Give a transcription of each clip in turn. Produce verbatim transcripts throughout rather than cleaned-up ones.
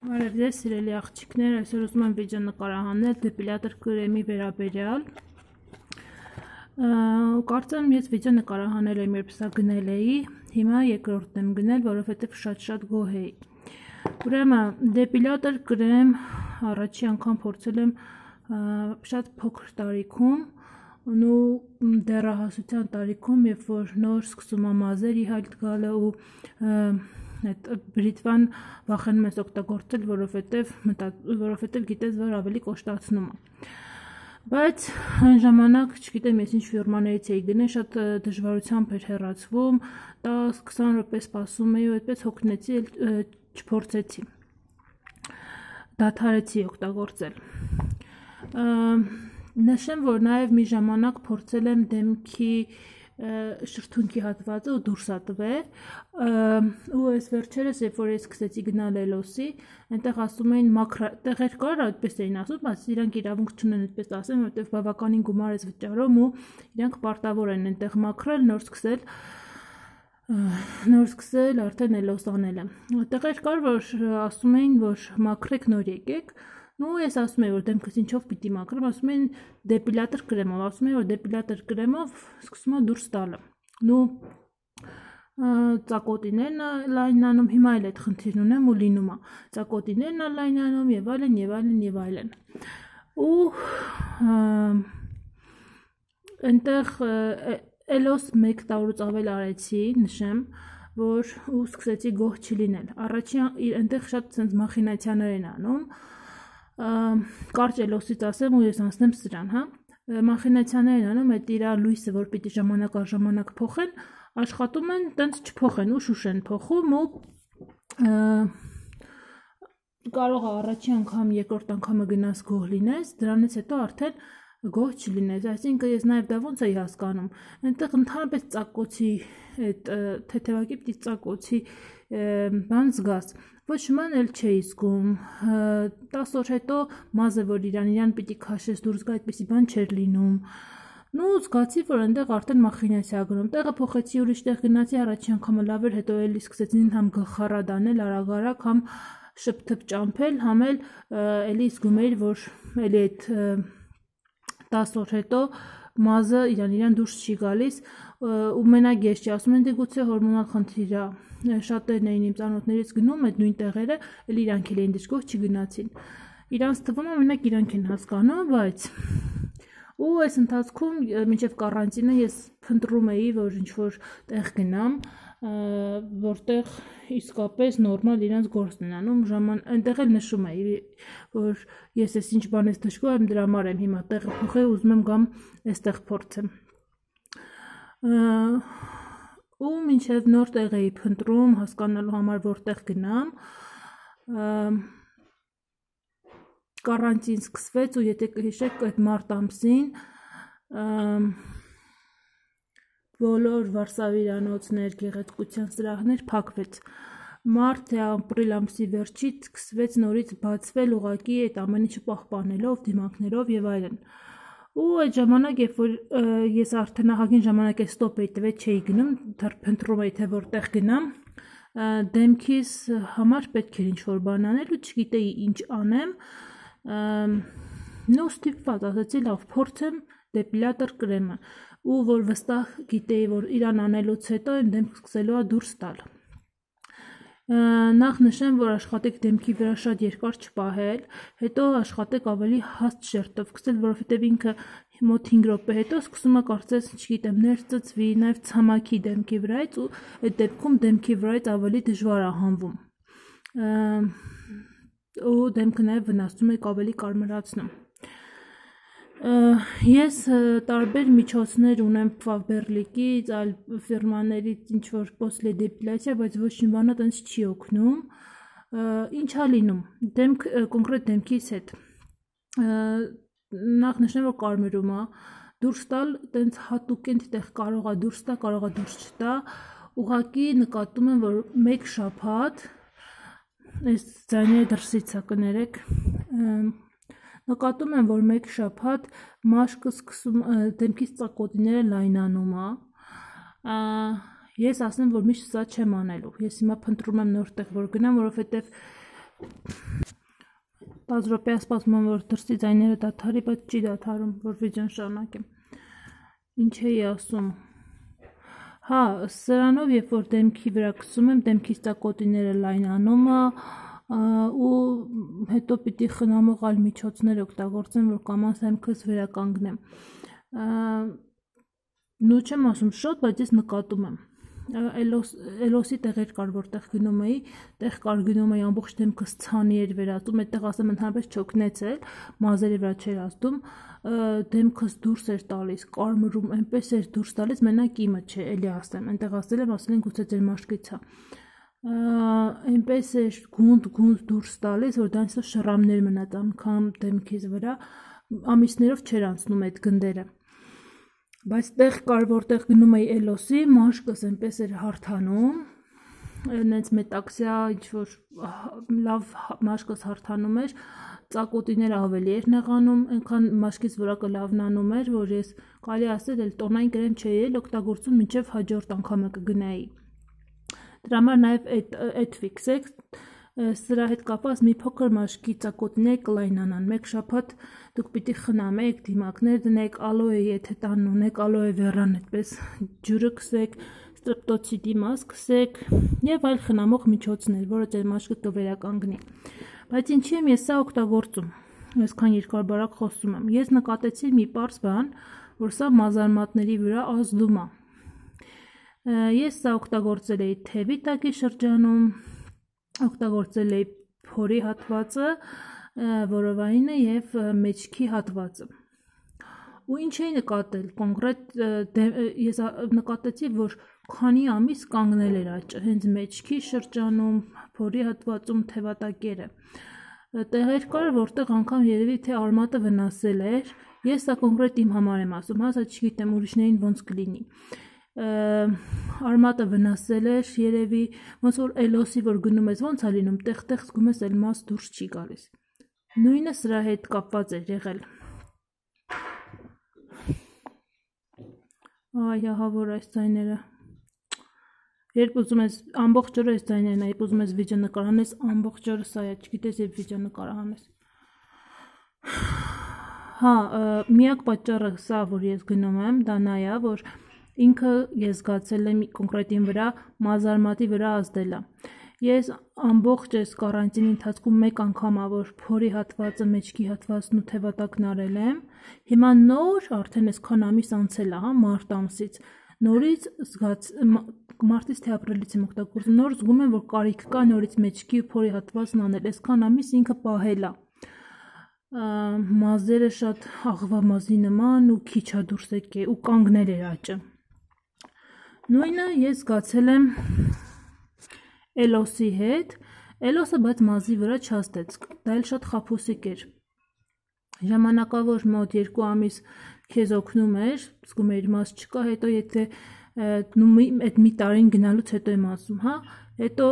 Բարև ձեզ սիրելի աղջիկներ, այսօր ուզում եմ վիդեո նկարահանել դեպիլյատոր կրեմի վերաբերյալ։ Կարծեմ ես վիդեո նկարահանել եմ, երբ սա գնել էի, հիմա երկրորդն եմ գնել, որովհետև շատ-շատ գոհ էի։ Ուրեմն դեպիլյատոր կրեմ առաջի անգամ փորձել եմ շատ փոքր տարիքում, ու դեռահասության տարիքում, երբ որ նոր սկսում եմ մազեր իհայտ գալը ու այդ բրիտվան վախենում ես օգտագործել, որովհետև որովհետև գիտես, որ ավելի կոշտացնում է։ Բայց այն ժամանակ, չգիտեմ, ես ինչ ֆիրմաներից էի գնել, շատ դժվարությամբ էր հեռացվում, դես քսան րոպե սպասում էի ու այդպես հոգնեցի, չփորձեցի։ Դադարեցի օգտագործել։ Նշեմ, որ նաև մի ժամանակ փորձել եմ դեմքի շրթունքի հատվածը ու դուրս է տվել, ու այս վերջերս, երբ որ ես սկսեցի գնալ Էլոսի, այնտեղ ասում էին մաքր տեղեր կար, այդպես էին ասում, բայց իրանք իրավունք չունեն այդպես ասեն, որովհետև բավականին գումար ես վճարում ու իրանք պարտավոր են այնտեղ մաքրել, նոր սկսել նոր սկսել արդեն Էլոս անելը։ Տեղեր կար, որ ասում էին, որ մաքրեք, նոր եկեք, ու ես ասում եի, որ դեմքս ինչով պիտի մաքրեմ, ասում էին դեպիլյատոր կրեմով, ասում էին, որ դեպիլյատոր կրեմով սկսում է դուրս տալը։ Ու ծակոտիներն է լայնանում, հիմա էլ այդ խնդիրն ունեմ ու լինում է։ Ծակոտիներն է լայնանում եւ այլն եւ այլն եւ այլն։ Ու այնտեղ Էլոս մեկ տարուց ավել արեցի, նշեմ, որ ու սկսեցի գոհ չլինել։ Առաջին այնտեղ շատ ցենց մախինացիաներ են անում, կարճ Էլոսից ասեմ ու ես անցնեմ սրան, հա։ Մախինացիաներ են անում, այդ իր լույսը, որ պիտի ժամանակ առ ժամանակ փոխեն, աշխատում են տենց չփոխեն ու շուշ են փոխում ու կարող է առաջի անգամ, երկրորդ անգամը գնաս գոհ լինես, դրանից հետո արդեն գոհ չլինես, այսինքն ես նաև դա ոնց էի հասկանում, այնտեղ ընդհանրապես ծակոցի, այդ թեթևակի պիտի ծակոցի բան զգաս, ոչ ման էլ չէի զգում, տասը օր հետո մազը, որ իրան իրան պիտի քաշես դուրս գա, այդպիսի բան չէր լինում, ու զգացի, որ այնտեղ արդեն մախինացիա գնում, տեղը փոխեցի, ուրիշ տեղ գնացի, առաջի անգամը լավ էր, հետո էլի սկսեցին համ գլխառատ անել, արագ-արագ, համ շփթփ ճամփել, համ էլ էլի զգում էի, որ էլի այդ տասը օր հետո մազը իրան իրան դուրս չի գալիս ու մենակ ես չի ասում են դե գուցե հորմոնալ խնդիր է, շատերն էին իմ ծանոթներից գնում այդ նույն տեղերը, էլ իրանք էլ էին դժգոհ չգնացին։ Իրանց թվում է մենակ իրանք են հասկանում, բայց ու այս ընթացքում մինչև կարանտինը ես փնտրում էի, որ ինչ որ տեղ գնամ, որտեղ իսկապես նորմալ իրանց գործն են անում, ժաման այնտեղ էլ նշում էի, որ ես ես ինչ բան ես դժգոհ եմ, դրա համար եմ հիմա տեղը փոխել, ուզում եմ գամ այստեղ փորձեմ։ Ու մինչև նոր տեղ էի փնտրում, հասկանալու համար որտեղ գնամ, կարանտին սկսվեց ու եթե կհիշեք այդ մարտ ամսին բոլոր վարսավիրանոցներ, գեղեցկության սրահներ փակվեց։ Մարտ թե ապրիլ ամսի վերջից սկսվեց նորից բացվել ուղակի այդ ամեն ինչը պահպանելով, դիմակներով եւ այլն։ Ու այդ ժամանակ, երբ որ ես արդեն ահագին ժամանակ է ստոպ էի տվել, չէի գնում, դեռ փնտրում էի թե որտեղ գնամ, դեմքիս համար պետք էր ինչ-որ բան անել ու չգիտեի ինչ անեմ, նո ստիպված ասացի լավ փորձեմ դեպիլյատոր կրեմը ու որ վստահ գիտեի, որ իրան անելուց հետո այն դեմք սկսելու է դուրս տալ։ Նախ նշեմ, որ աշխատեք դեմքի վրա շատ երկար չպահել, հետո աշխատեք ավելի հաստ շերտով սկսել, որովհետև ինքը մոտ հինգ րոպե հետո սկսում է կարծես, չգիտեմ, ներծծվի, նաև ցամաքի դեմքի վրայից ու այդ դեպքում դեմքի վրայից ավելի դժվար է հանվում։ Ու դեմքը նաև վնասում եք ավելի կարմրացնում։ Ես տարբեր միջոցներ ունեմ Faberlic-ից, այլ ֆիրմաներից ինչ որ պոսլե դեպիլյացիա, բայց ոչ մի բանը տենց չի օգնում։ Ինչ է լինում։ Դեմք կոնկրետ դեմքիս հետ։ Նախ նշեմ, որ կարմրում է, դուրս տալ տենց հատուկ այնտեղ կարող է դուրս տա, կարող է դուրս չտա։ Ուղղակի նկատում եմ, որ մեկ շաբաթ այս ձայները դրսից է կներեք, նկատում եմ, որ մեկ շաբաթ մաշկը սկսում դեմքից ծակոտիները լայնանում է, ես ասեմ, որ միշտ սա չեմ անելու, ես հիմա փնտրում եմ նոր տեղ, որ գնամ, որովհետև Բաց րոպե սպասում եմ, որ դրսի ձայները դադարի, բայց չի դադարում, որ վիդեոն շարունակեմ։ Ինչ էի ասում։ Հա, սրանով երբ որ դեմքի վրա քսում եմ, դեմքից ծակոտիները լայնանում է ու հետո պիտի խնամող այլ միջոցներ օգտագործեմ, որ կամաց դեմքս վերականգնեմ։ Նու չեմ ասում շոտ, բայց ես նկատում եմ։ Էլոսի տեղեր կար, որտեղ գնում էի, տեղ կար գնում էի ամբողջ դեմքս ցանի էր վերածում, այդտեղ ասեմ ընդհանրապես չօգնեցել, մազերի վրա չէր ազդում, դեմքս դուրս էր տալիս, կարմրում, այնպես էր դուրս տալիս, մենակ իմը չէ, էլի ասեմ, այնտեղ ասել եմ, ասել են գուցե ձեր մաշկից է։ Այնպես էր գունդ-գունդ դուրս տալիս, որ դրանից շռամներ մնաց անգամ դեմքիս վրա, ամիսներով չէր անցնում այդ գնդերը։ Բայց տեղ կար, որտեղ գնում էի էլոսի, մաշկս այնպես էր հարթանում, նենց մետաքսիա, ինչ-որ լավ մաշկս հարթանում էր, ծակոտիները ավելի էր նեղանում, այնքան մաշկից որակը լավնանում էր, որ ես կարելի ասել էլ տոնային կրեմ չէի էլ օգտագործում, մինչև հաջորդ անգամը կգնայի։ Դրա համար նաև այդ ֆիքսեք, սրա հետ կապված մի փոքր մաշկի ծակոտիները կլայնանան, մեկ շաբաթ դուք պիտի խնամեք, դիմակներ դնեք, ալոե եթե տանն ունեք, ալոե վերան այդպես ջուրը քսեք, ստրեպտոցիդի մազ քսեք եւ այլ խնամող միջոցներ, որը ձեր մաշկը կվերականգնի։ Բայց ինչի եմ ես սա օգտագործում, այսքան երկար բարակ խոսում եմ։ Ես նկատեցի մի պարզ բան, որ սա մազարմատների վրա ազդում է։ Ես սա օգտագործել էի թևի տակի շրջանում, օգտագործել էի փորի հատվածը, որովայինը եւ մեջքի հատվածը։ Ու ինչ էի նկատել, կոնկրետ ես նկատեցի, որ քանի ամիս կանգնել էր աճը, հենց մեջքի շրջանում, փորի հատվածում, թևատակերը։ Տեղեր կար, որտեղ անգամ երևի թե արմատը վնասել էր, ես սա կոնկրետ իմ համար եմ ասում, հա, սա չգիտեմ ուրիշներին ոնց կլինի։ Արմատը վնասել էր, երևի ոնց որ էլոսի որ գնում ես, ոնց է լինում, տեղ-տեղ զգում ես էլ մաս դուրս չի գալիս։ Նույնը սրա հետ կապված էր եղել։ Այ ահա որ այս ձայները։ Երբ ուզում ես ամբողջ օրը այս ձայներն է, երբ ուզում ես վիդեո նկարահանես, ամբողջ օրը սա է, չգիտես երբ վիդեո նկարահանես։ Հա, միակ պատճառը սա, որ ես գնում եմ, դա նա է, որ ինքը ես զգացել եմ կոնկրետ իմ վրա մազարմատի վրա ազդել է։ Ես ամբողջ այս կարանտինի ընթացքում մեկ անգամ ա որ փորի հատվածը, մեջքի հատվածն ու թևատակն արել եմ։ Հիմա նոր արդեն այսքան ամիս անցել է, հա, մարտ ամսից։ Նորից զգաց մարտից թե ապրիլից եմ օգտագործում, նոր զգում եմ, որ կարիք կա նորից մեջքի ու փորի հատվածն անել։ Այսքան ամիս ինքը պահել է։ Մազերը շատ աղվամազի նման ու քիչ է դուրս եկել ու կանգնել էր աճը։ Նույնը ես զգացել եմ էլոսի հետ, էլոսը բայց մազի վրա չազդեց, դա էլ շատ խաբուսիկ էր։ Ժամանակավոր մոտ երկու ամիս քեզ օգնում էր, զգում էիր մազ չկա, հետո եթե այդ մի տարին գնալուց հետո եմ ասում, հա, հետո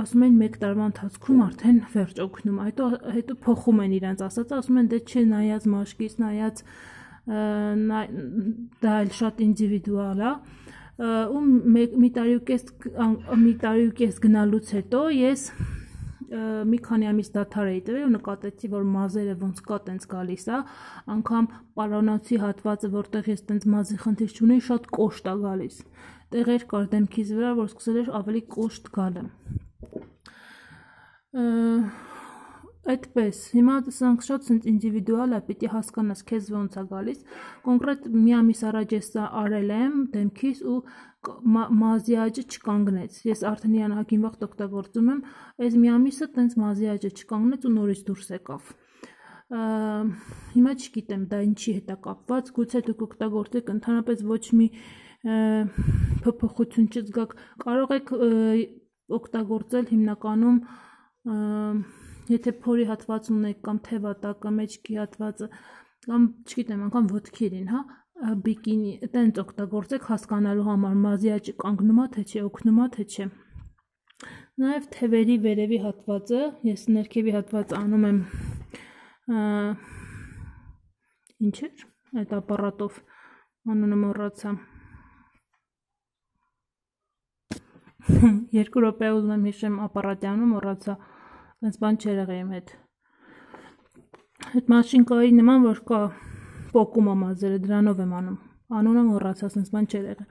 ասում են մեկ տարվա ընթացքում արդեն վերջ օգնում, հետո հետո փոխում են իրենց ասած, ասում են դե չէ նայած մաշկից, նայած դա էլ շատ ինդիվիդուալ է, ու մի տարի ու կես մի տարի ու կես գնալուց հետո ես մի քանի ամիս դադար էի տվել ու նկատեցի, որ մազերը ոնց կա տենց գալիս է, անգամ պարանոցի հատվածը, որտեղ ես տենց մազի խնդիր չունեի, շատ կոշտ է գալիս։ Տեղեր կար դեմքիս վրա, որ սկսել էր ավելի կոշտ գալը։ Այդպես, հիմա սրանք շատ սենց ինդիվիդուալ է, պիտի հասկանաս քեզ ոնց է գալիս։ Կոնկրետ մի ամիս առաջ ես սա արել եմ դեմքիս ու մազի աճը չկանգնեց։ Ես արդեն իրանահագին վաղ օգտագործում եմ, այս մի ամիսը տենց մազի աճը չկանգնեց ու նորից դուրս եկավ։ Հիմա չգիտեմ դա ինչի հետ է կապված, գուցե դուք օգտագործեք ընդհանրապես ոչ մի փոփոխություն չզգաք, կարող եք օգտագործել հիմնականում եթե փորի հատված ունեք կամ թևատակը, մեջքի հատվածը կամ չգիտեմ, անգամ ոտքերին, հա, բիկինի, տենց օգտագործեք հասկանալու համար մազի աճը կանգնում է թե չէ, օգնում է թե չէ։ Նաև թևերի վերևի հատվածը, ես ներքևի հատվածը անում եմ ինչ էր, այդ ապարատով անունը մոռացա։ Երկու րոպե ուզում եմ հիշեմ ապարատյանը մոռացա, այնց բան չեր եղել իմ հետ։ այդ մաշինկայի նման որ կա պոկում է մազերը, դրանով եմ անում։ Անունը մոռացա, ասես բան չէր եղել։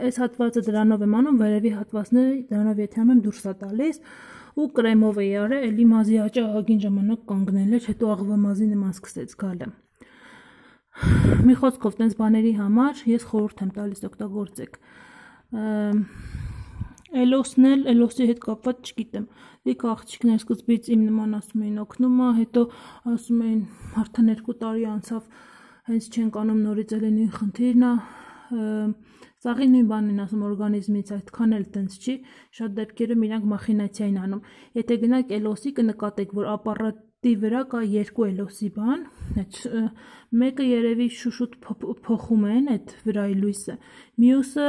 Այս հատվածը դրանով եմ անում, վերևի հատվածները դրանով եթե անում դուրս է տալիս ու կրեմով էի արել, էլի մազի աճը ահագին ժամանակ կանգնել էր, հետո աղվա մազի նման սկսեց գալը։ Մի խոսքով տենց բաների համար ես խորհուրդ եմ տալիս օգտագործեք։ Էլոսն էլ, էլոսի հետ կապված չգիտեմ։ Դիք աղջիկներ սկզբից իմ նման ասում էին օգնում է, հետո ասում էին արդեն երկու տարի անցավ, հենց չենք անում նորից էլի նույն խնդիրն է։ Սաղի նույն բանն են ասում օրգանիզմից, այդքան էլ տենց չի, շատ դեպքերում իրանք մախինացիա են անում։ Եթե գնաք էլոսի կնկատեք, որ ապարատի վրա կա երկու էլոսի բան, մեկը երևի շուշուտ փոխում են այդ վրայի լույսը, մյուսը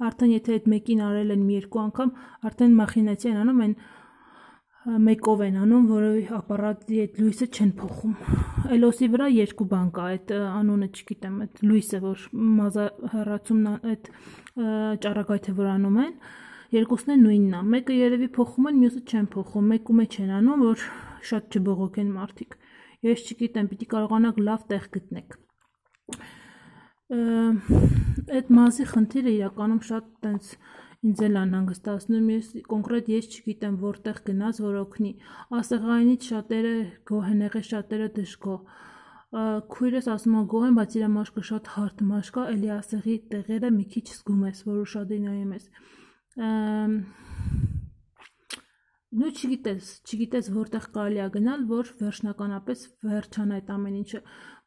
արդեն եթե այդ մեկին արել են մի երկու անգամ, արդեն մախինացիա են անում, այն մեկով են անում, որը ապարատի այդ լույսը չեն փոխում։ Էլոսի վրա երկու բան կա, այդ անունը չգիտեմ, այդ լույսը, որ մազահեռացումն այդ ճառագայթը որ անում են, երկուսն են նույնն է, մեկը երևի փոխում են, մյուսը չեն փոխում, մեկու մեջ են անում, որ շատ չբողոքեն մարդիկ։ Ես չգիտեմ, պիտի կարողանաք լավ տեղ գտնեք։ Այդ մազի խնդիրը իրականում շատ տենց ինձ էլ անհանգստացնում, ես կոնկրետ ես չգիտեմ որտեղ գնաց, որ օգնի։ Ասեղայինից շատերը գոհ են եղել, շատերը դժգոհ։ Քույրս ասում է գոհ եմ, բայց իր մաշկը շատ հարթ մաշկ է, էլի ասեղի տեղերը մի քիչ զգում ես, որ ուշադիր նայում ես։ Նու չգիտես, չգիտես որտեղ կարելի է գնալ, որ վերջնականապես վերջանա այդ ամեն ինչը։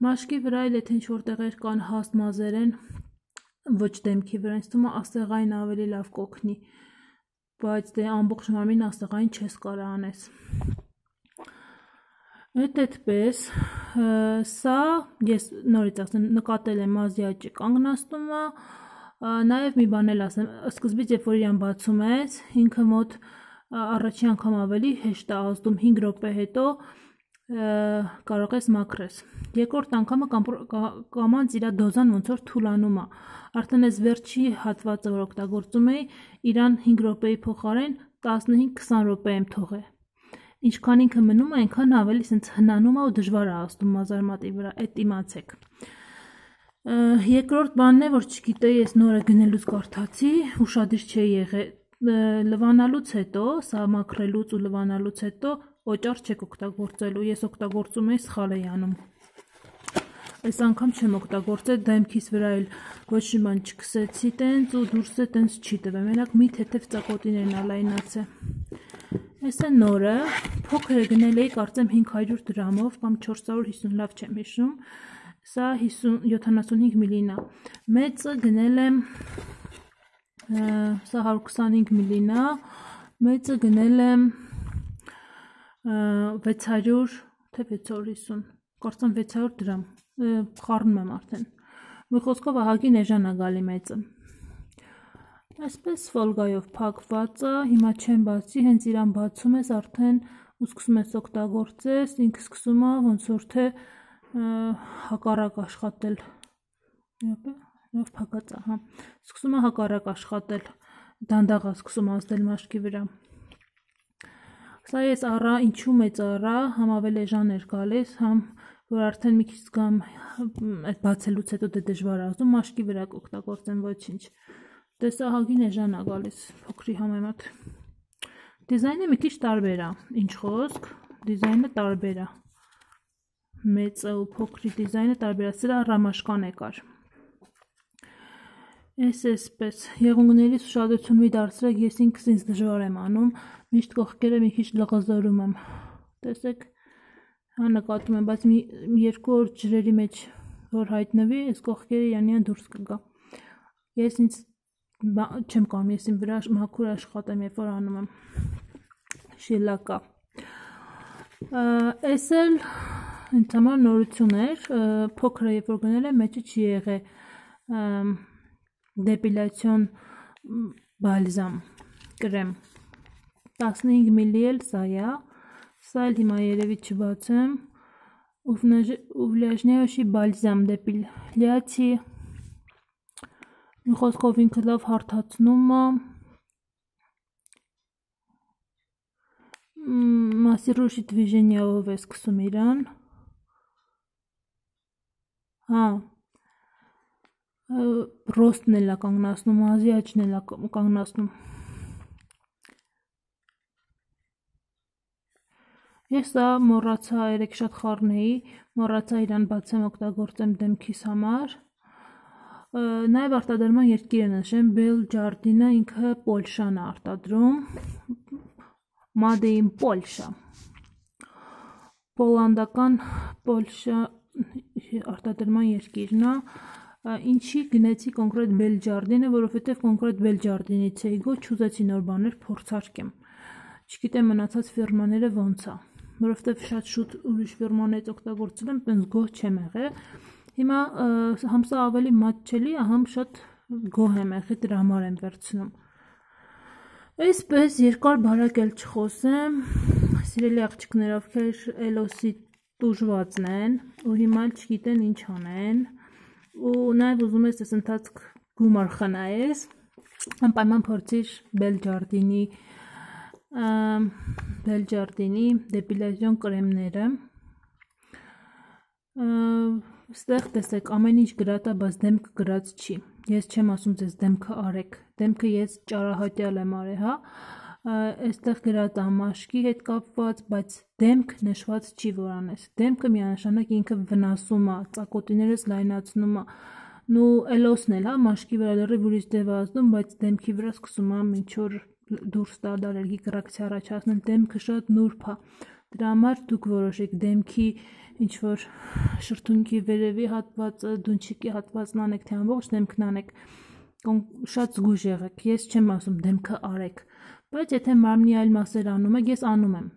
Մաշկի վրա էլ եթե ինչ որտեղեր կան հաստ մազեր են, ոչ դեմքի վրա, ինձ թվում է ասեղային ավելի լավ կօգնի, բայց դե ամբողջ մարմին ասեղային չես կարող անես։ Այդ այդպես, սա ես նորից ասեմ, նկատել եմ մազի աճի կանգնացնում է, նաև մի բան էլ ասեմ, սկզբից երբ որ իրան բացում ես, ինքը մոտ առաջի անգամ ավելի հեշտ է ազդում, հինգ րոպե հետո կարող ես մաքրես։ Երկրորդ անգամը կամանց իր դոզան ոնց որ թուլանում է։ Արդեն այս վերջի հատվածը որ օգտագործում էի, իրան հինգ րոպեի փոխարեն տասնհինգ քսան րոպե եմ թողել։ Ինչքան ինքը մնում է, այնքան ավելի սենց հնանում է ու դժվար է ազդում մազարմատի վրա, այդ իմացեք։ Երկրորդ բանն է, որ չգիտեի, ես նորը գնելուց կարդացի, ուշադիր չէի եղել, լվանալուց հետո, սա մաքրելուց ու լվանալուց հետո օճառ չեք օգտագործելու, ես օգտագործում էի սխալ էի անում։ Այս անգամ չեմ օգտագործել, դեմքիս վրա էլ ոչ մի բան չքսեցի տենց ու դուրսը տենց չի տվել, մենակ մի թեթև ծակոտիներն ալայնացե։ Այս է նորը, փոքրը գնել էի կարծեմ հինգ հարյուր դրամով կամ չորս հարյուր հիսուն, լավ չեմ հիշում, սա յոթանասունհինգ միլին է, մեծը գնել եմ, սա հարյուր քսանհինգ միլին է, մեծը գնել եմ վեց հարյուր, թե վեց հարյուր հիսուն, կարծեմ վեց հարյուր դրամ, խառնում եմ արդեն, մի խոսքով ահագին էժան է գալի մեծը։ Այսպես ֆոլգայով փակված է, հիմա չեմ բացի, հենց իրան բացում ես արդեն ու սկսում ես օգտագործես, ինքը սկսում է ոնց որ թե հակառակ աշխատել, լավ փակած է, հա, սկսում է հակառակ աշխատել, դանդաղ է սկսում ազդել մաշկի վրա։ Սա ես առա, ինչու մեծ առա, համ ավելի էժան էր գալիս, համ որ արդեն մի քիչ զգամ այդ բացելուց հետո դե դժվար է ազդում, մաշկի վրա կօգտագործեմ ոչինչ։ Դե սա ահագին էժան է գալիս փոքրի համեմատ։ Դիզայնը մի քիչ տարբեր է, ինչ խոսք, դիզայնը տարբեր է։ Մեծը ու փոքրի դիզայնը տարբեր է, սրա ռամաշկան է կար։ Էս էսպես, եղունգներից ուշադրություն մի դարձրեք, ես ինքս ինձ դժվար եմ անում, միշտ կողքերը մի քիչ լղզորում եմ։ Տեսեք, հա նկատում եմ, բայց մի երկու օր ջրերի մեջ որ հայտնվի, այս կողքերը իրանյան դուրս կգա։ Ես ինձ չեմ կամ, ես իմ վրա մաքուր աշխատեմ, երբ որ անում եմ շիլակա։ Էս էլ ինձ համար նորություն էր, փոքրը երբ որ գնել եմ, մեջը չի եղել դեպիլյացիոն բալզամ, կրեմ, տասնհինգ միլի էլ սա է, սա էլ հիմա երևի չբացեմ, ուվլիաժնեոշի բալզամ դեպիլյացի, մի խոսքով ինքը լավ հարթացնում է, Մասիրուշի դվիժենիայով է սկսում իրան։ Հա, ռոստն էլ է կանգնացնում, մազի աճն էլ է կանգնացնում։ Ես սա մոռացա երեք շատ խառնեի, մոռացա իրան բացեմ օգտագործեմ դեմքիս համար։ Նաև արտադրման երկիրը նշեմ, Bell Jardine-ը ինքը Պոլշան է արտադրում, Made in Polsha, պոլանդական Պոլշա արտադրման երկիրն է։ Ինչի գնեցի կոնկրետ Bell Jardine-ը, որովհետև կոնկրետ Bell Jardine-ից էի գոչ, չուզեցի նոր բաներ փորձարկեմ։ Չգիտեմ մնացած ֆիրմաները ոնց է, որովհետև շատ շուտ ուրիշ ֆիրմանից օգտագործել եմ, տենց գոհ չեմ եղել։ Հիմա համ սա ավելի մատչելի է, համ շատ գոհ եմ եղել, դրա համար եմ վերցնում։ Այսպես երկար բարակ էլ չխոսեմ, սիրելի աղջիկներ, ովքեր Էլոսի տուժվածն են ու հիմա չգիտեն ինչ անեն ու նաև ուզում ես այս ընթացք գումար խնայես, անպայման փորձիր Bell Jardine-ի Bell Jardine-ի դեպիլյացիոն կրեմները։ Ստեղ տեսեք ամեն ինչ գրած է, բայց դեմք գրած չի։ Ես չեմ ասում ձեզ դեմքը արեք, դեմքը ես ճարահատյալ եմ արել, հա։ Այստեղ գրած է մաշկի հետ կապված, բայց դեմք նշված չի որ անես։ Դեմքը միանշանակ ինքը վնասում է, ծակոտիներս լայնացնում է։ Նու Էլոսն էլ, հա, մաշկի վրա լրիվ ուրիշ դև է ազդում, բայց դեմքի վրա սկսում է ինչ որ դուրս տալ ալերգիկ ռեակցիա առաջացնել, դեմքը շատ նուրբ է։ Դրա համար դուք որոշեք դեմքի ինչ որ շրթունքի վերևի հատվածը, դունչիկի հատվածն անեք, թե ամբողջ դեմքն անեք, շատ զգույշ եղեք։ Ես չեմ ասում դեմքը արեք, բայց եթե մարմնի այլ մասեր անում եք, ես անում եմ։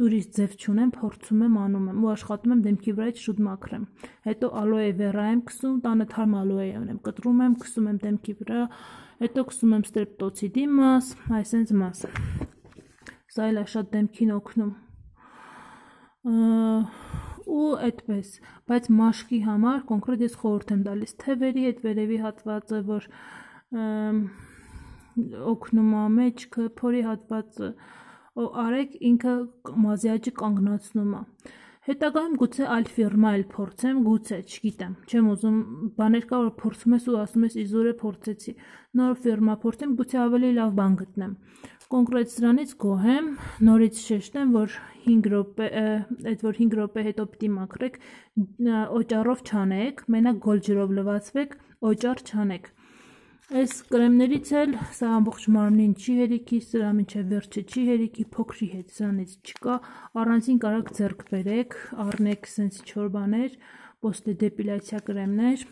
Ուրիշ ձև չունեմ, փորձում եմ, անում եմ ու աշխատում եմ դեմքի վրայից շուտ մաքրեմ։ Հետո ալոե վերա եմ քսում, տանը թարմ ալոե եմ կտրում եմ, քսում եմ դեմքի վրա, հետո քսում եմ ստրեպտոցիդի մաս, այսպես մաս։ Սա էլ է շատ դեմքին օգնում։ Ու այդպես, բայց մաշկի համար կոնկրետ ես խորհուրդ եմ տալիս թևերի հետ վերևի հատվածը, որ օգնում է մեջքը, փորի հատվածը, արեք ինքը մազի աճը կանգնացնում է։ Հետագայում գուցե այլ ֆիրմա էլ փորձեմ, գուցե, չգիտեմ, չեմ ուզում, բաներ կա որ փորձում ես ու ասում ես իզուր է փորձեցի, նոր ֆիրմա փորձեմ, գուցե ավելի լավ բան գտնեմ։ Կոնկրետ սրանից գոհ եմ, նորից շեշտեմ, որ հինգ րոպե, այդ որ հինգ րոպե հետո պիտի մաքրեք, օճառով չանեք, մենակ գոլ ջրով լվացվեք, օճառ չանեք։ Այս կրեմներից էլ սա ամբողջ մարմնին չի հերիքի, սրա մինչև վերջը չի հերիքի, փոքրի հետ սրանից չկա, առանձին կարաք ձեռք բերեք, առնեք սենց ինչ-որ բաներ, պոստե դեպիլյացիա կրեմներ,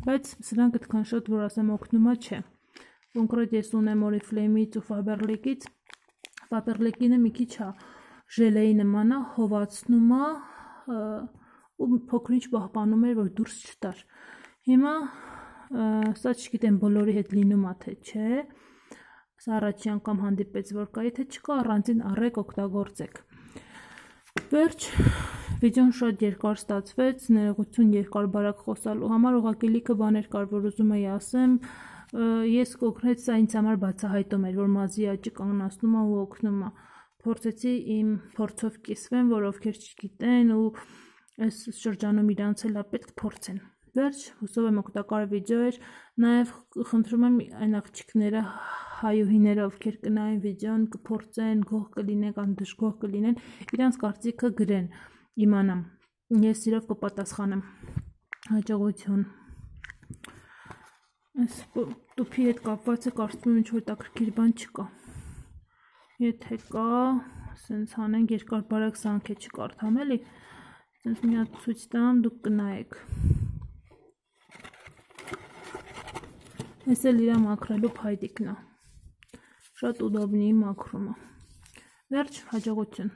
բայց սրանք այդքան շատ որ ասեմ օգնումա չէ։ Կոնկրետ ես ունեմ Oriflame-ից ու Faberlic-ից, Faberlic-ինը մի քիչ է ժելեի նման է, հովացնում է ու փոքրինչ պահպանում էր, որ դուրս չտար։ Հիմա սա չգիտեմ բոլորի հետ լինում է թե չէ, սա առաջի անգամ հանդիպեց որ կա, եթե չկա առանձին առեք օգտագործեք։ Վերջ, վիդեոն շատ երկար ստացվեց, ներողություն երկար բարակ խոսալու համար, ուղղակի լիքը բաներ կար, որ ուզում էի ասեմ, ես կոնկրետ սա ինձ համար բացահայտում էր, որ մազի աճը կանգնացնում է ու օգնում է։ Փորձեցի իմ փորձով կիսվեմ, որ ովքեր չգիտեն ու այս շրջանում իրանց էլ պետք փորձեն։ Վերջ, հուսով եմ օգտակար վիդեո էր, նաև խնդրում եմ այն աղջիկները, հայուհիները, ովքեր կնայեն վիդեոն, կփորձեն, գոհ կլինեն կամ դժգոհ կլինեն, իրանց կարծիքը գրեն, իմանամ, ես սիրով կպատասխանեմ, հաջողություն։ Այս տուփի հետ կապված է կարծում եմ ինչ-որ հետաքրքիր բան չկա։ Եթե կա, սենց հանենք երկար բարակ սանք է չկարդամ էլի, սենց մի հատ ցույց տամ, դուք կնայեք։ Այս էլ իրա մաքրելու փայտիկն է, շատ ուդոբնի մաքրումը։ Վերջ, հաջողություն։